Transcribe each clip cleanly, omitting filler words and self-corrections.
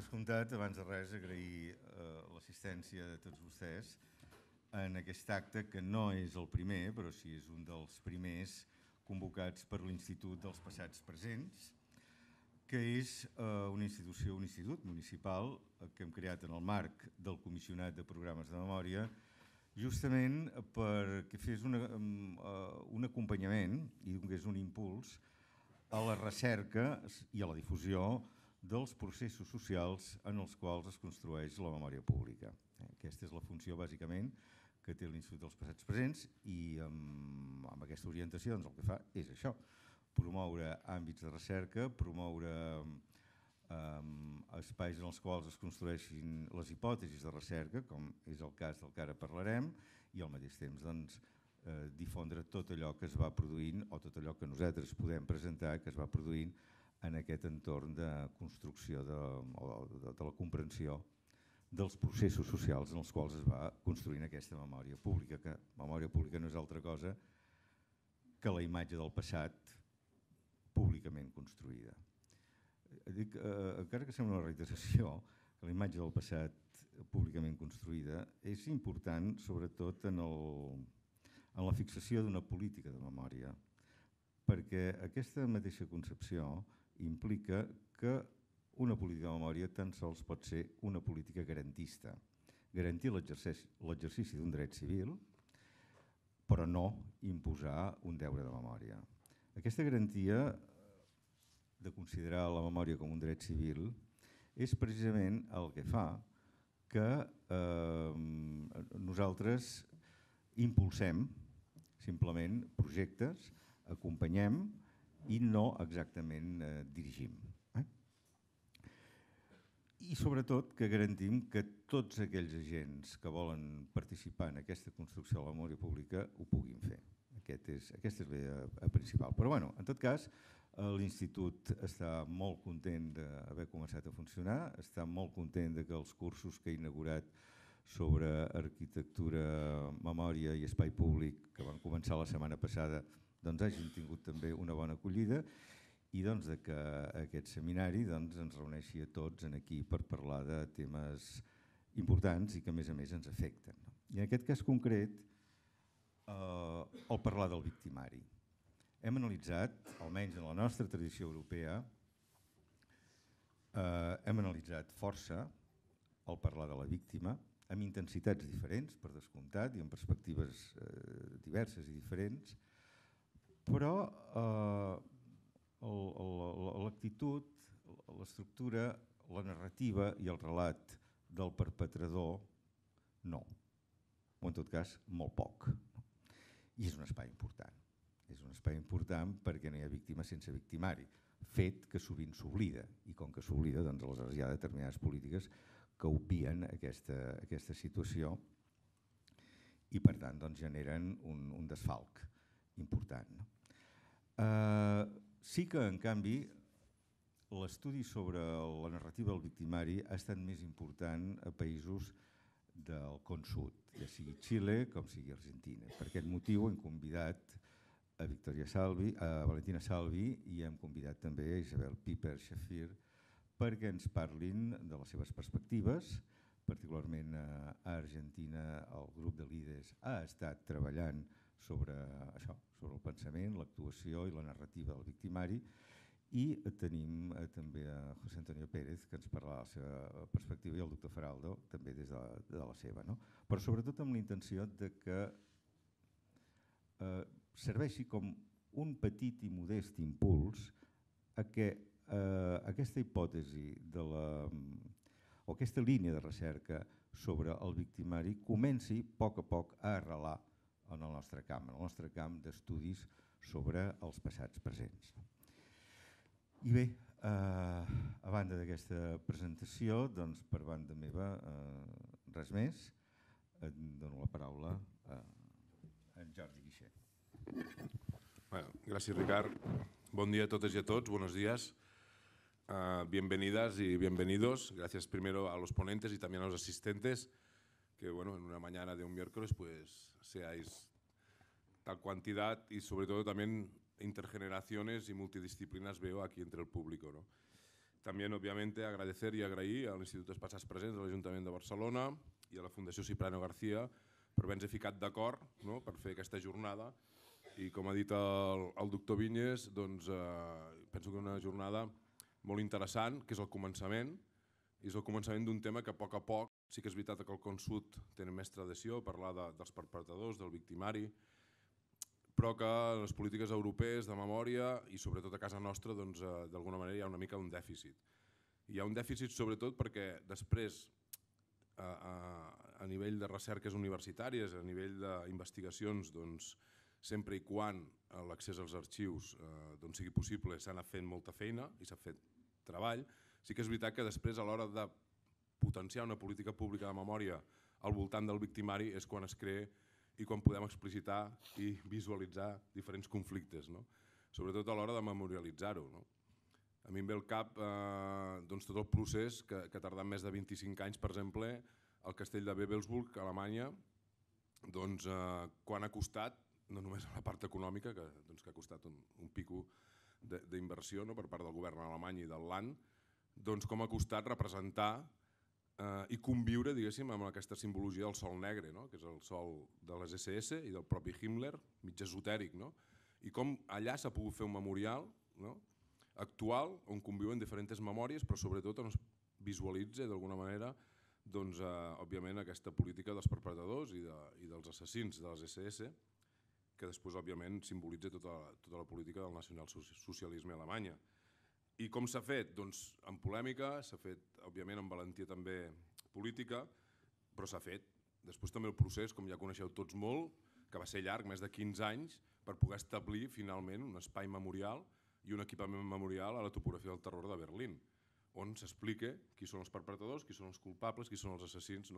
descomptat, abans de res, agrair l'assistència de tots vostès en aquest acte, que no és el primer, però sí és un dels primers convocats per l'Institut dels Passats Presents, que és una institució, un institut municipal que hem creat en el marc del Comissionat de Programes de Memòria, justament perquè fes un acompanyament i donés un impuls a la recerca i a la difusió dels processos socials en els quals es construeix la memòria pública. Aquesta és la funció, bàsicament, que té l'Institut dels Passats Presents i amb aquesta orientació el que fa és això, promoure àmbits de recerca, promoure espais en els quals es construeixin les hipòtesis de recerca, com és el cas del que ara parlarem, i al mateix temps difondre tot allò que es va produint o tot allò que nosaltres podem presentar que es va produint en aquest entorn de construcció de la comprensió dels processos socials en els quals es va construint aquesta memòria pública, que memòria pública no és altra cosa que la imatge del passat públicament construïda. Dic, encara que sembla una reiteració, que la imatge del passat públicament construïda és important sobretot en la fixació d'una política de memòria, perquè aquesta mateixa concepció implica que una política de memòria tan sols pot ser una política garantista. Garantir l'exercici d'un dret civil, però no imposar un deure de memòria. Aquesta garantia de considerar la memòria com un dret civil és precisament el que fa que nosaltres impulsem simplement projectes, acompanyem i no exactament dirigim. I sobretot que garantim que tots aquells agents que volen participar en aquesta construcció de la memòria pública ho puguin fer. Aquesta és la idea principal. Però bueno, en tot cas, l'Institut està molt content d'haver començat a funcionar, està molt content que els cursos que ha inaugurat sobre arquitectura, memòria i espai públic que van començar la setmana passada hagin tingut també una bona acollida i que aquest seminari ens reuneixi a tots aquí per parlar de temes importants i que a més ens afecten. I en aquest cas concret, el parlar del victimari. Hem analitzat, almenys en la nostra tradició europea, hem analitzat força el parlar de la víctima, amb intensitats diferents, per descomptat, i amb perspectives diverses i diferents, però l'actitud, l'estructura, la narrativa i el relat del perpetrador no, o en tot cas molt poc. I és un espai important. És un espai important perquè no hi ha víctima sense victimari, fet que sovint s'oblida, i com que s'oblida, aleshores hi ha determinades polítiques que obvien aquesta situació i per tant generen un desfalc important. Sí que, en canvi, l'estudi sobre la narrativa del victimari ha estat més important a països del Con Sud, ja sigui Xile com sigui Argentina. Per aquest motiu hem convidat a Valentina Salvi i hem convidat també a Isabel Piper-Shafir perquè ens parlin de les seves perspectives. Particularment a Argentina el grup de líders ha estat treballant sobre això, sobre el pensament, l'actuació i la narrativa del victimari, i tenim també a José Antonio Pérez que ens parlarà de la seva perspectiva i el doctor Faraldo també des de la seva. Però sobretot amb la intenció que serveixi com un petit i modest impuls a que aquesta hipòtesi o aquesta línia de recerca sobre el victimari comenci a poc a arrelar en el nostre camp d'estudis sobre els passats presents. I bé, a banda d'aquesta presentació, per banda meva, res més. Dono la paraula a en Jordi Guixer. Gracias, Ricard. Buen día a todos y a todos. Buenos días. Bienvenidas y bienvenidos. Gracias primero a los ponentes y también a los asistentes, que en una mañana de un miércoles pues seáis tal cuantidad y sobre todo también intergeneraciones y multidisciplinas veo aquí entre el público. También, obviamente, agradecer y agrair al Institut Espaçats Presents de l'Ajuntament de Barcelona i a la Fundació Cipriano García per haver-nos ficat d'acord, no?, per fer aquesta jornada. I com ha dit el doctor Vinyes, doncs, penso que és una jornada molt interessant, que és el començament, i és el començament d'un tema que a poc sí que és veritat que el Consut té més tradició, parlar dels perpetradors, del victimari, però que les polítiques europees de memòria i sobretot a casa nostra d'alguna manera hi ha una mica un dèficit. Hi ha un dèficit sobretot perquè després a nivell de recerques universitàries, a nivell d'investigacions, sempre i quan l'accés als arxius sigui possible s'ha anat fent molta feina i s'ha fet treball. Sí que és veritat que després a l'hora de potenciar una política pública de memòria al voltant del victimari és quan es crea i quan podem explicitar i visualitzar diferents conflictes, sobretot a l'hora de memorialitzar-ho. A mi em ve al cap tot el procés que ha tardat més de 25 anys, per exemple, al castell de Wewelsburg, a Alemanya, quan ha costat, no només a la part econòmica, que ha costat un pico d'inversió per part del govern alemany i del Land, com ha costat representar i conviure, diguéssim, amb aquesta simbologia del sol negre, que és el sol de les SS i del propi Himmler, mig esotèric, i com allà s'ha pogut fer un memorial actual on conviuen diferents memòries, però sobretot on es visualitza d'alguna manera, òbviament, aquesta política dels perpetradors i dels assassins de les SS, que després, òbviament, simbolitza tota la política del nacionalsocialisme a Alemanya. I com s'ha fet? Doncs amb polèmica, s'ha fet, òbviament, amb valentia també política, però s'ha fet. Després també el procés, com ja coneixeu tots molt, que va ser llarg, més de 15 anys, per poder establir finalment un espai memorial i un equipament memorial a la topografia del terror de Berlín, on s'explica qui són els perpetradors, qui són els culpables, qui són els assassins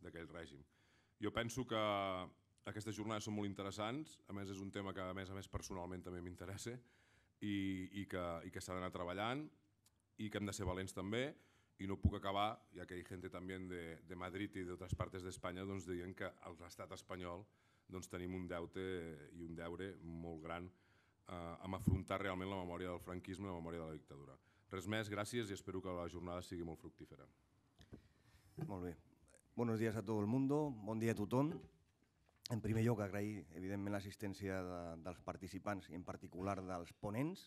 d'aquell règim. Jo penso que aquestes jornades són molt interessants, a més és un tema que a més personalment també m'interessa i que s'ha d'anar treballant i que hem de ser valents també, i no puc acabar, ja que hi ha gent també de Madrid i d'altres parts d'Espanya dient que a l'estat espanyol tenim un deute i un deure molt gran amb afrontar realment la memòria del franquisme i la memòria de la dictadura. Res més, gràcies i espero que la jornada sigui molt fructífera. Molt bé. Buenos días a todo el mundo, bon dia a tothom. En primer lloc, agrair, evidentment, l'assistència dels participants i en particular dels ponents.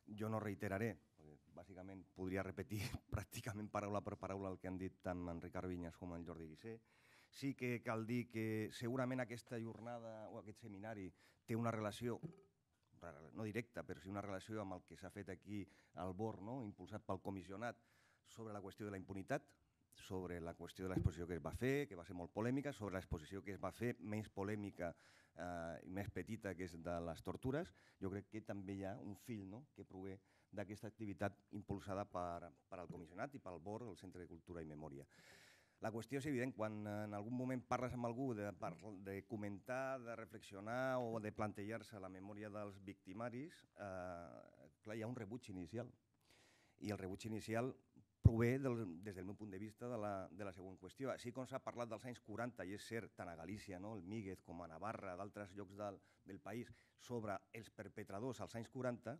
Jo no reiteraré, perquè bàsicament podria repetir pràcticament paraula per paraula el que han dit tant en Ricard Vinyes com en Jordi Guissé. Sí que cal dir que segurament aquesta jornada o aquest seminari té una relació, no directa, però sí una relació amb el que s'ha fet aquí al BOR, impulsat pel comissionat, sobre la qüestió de la impunitat, sobre la qüestió de l'exposició que es va fer, que va ser molt polèmica, sobre l'exposició que es va fer, menys polèmica i més petita, que és de les tortures. Jo crec que també hi ha un fil que prové d'aquesta activitat impulsada per al comissionat i pel BOR, el Centre de Cultura i Memòria. La qüestió és evident, quan en algun moment parles amb algú de comentar, de reflexionar o de plantejar-se la memòria dels victimaris, clar, hi ha un rebuig inicial. I el rebuig inicial prové, des del meu punt de vista, de la següent qüestió. Així com s'ha parlat dels anys 40, i és cert, tant a Galícia, el Míguez, com a Navarra, d'altres llocs del país, sobre els perpetradors als anys 40,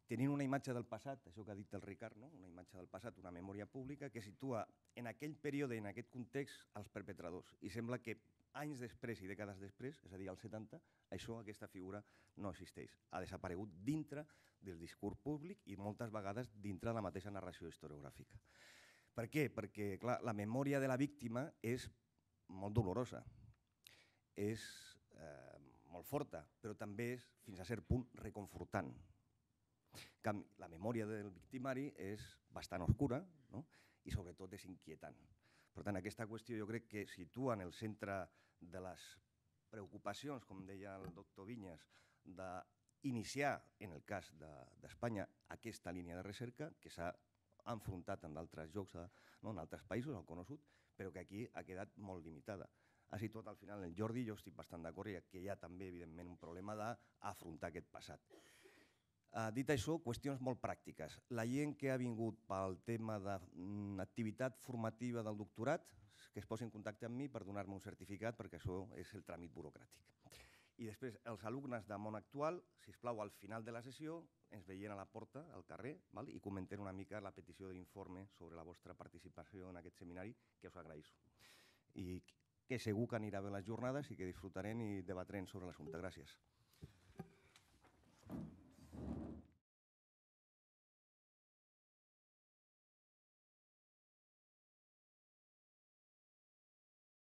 tenint una imatge del passat, això que ha dit el Ricard, una imatge del passat, una memòria pública que situa en aquell període, en aquest context, els perpetradors. I sembla que anys després i dècades després, és a dir, als 70, aquesta figura no existeix. Ha desaparegut dintre del discurs públic i moltes vegades dintre de la mateixa narració historiogràfica. Per què? Perquè, clar, la memòria de la víctima és molt dolorosa, és molt forta, però també és, fins a cert punt, reconfortant. La memòria del victimari és bastant oscura i sobretot és inquietant. Per tant, aquesta qüestió jo crec que situa en el centre de les preocupacions, com deia el doctor Vinyes, d'iniciar, en el cas d'Espanya, aquesta línia de recerca que s'ha enfrontat en d'altres llocs, en altres països, al Cono Sud, però que aquí ha quedat molt limitada. Ha situat al final el Jordi, jo estic bastant d'acord, que hi ha també, evidentment, un problema d'afrontar aquest passat. Dit això, qüestions molt pràctiques. La gent que ha vingut pel tema d'activitat formativa del doctorat, que es posi en contacte amb mi per donar-me un certificat, perquè això és el tràmit burocràtic. I després, els alumnes de món actual, sisplau, al final de la sessió, ens veien a la porta, al carrer, i comenten una mica la petició d'informe sobre la vostra participació en aquest seminari, que us agraïsso. I que segur que anirà bé les jornades i que disfrutarem i debatrem sobre l'assumpte. Gràcies.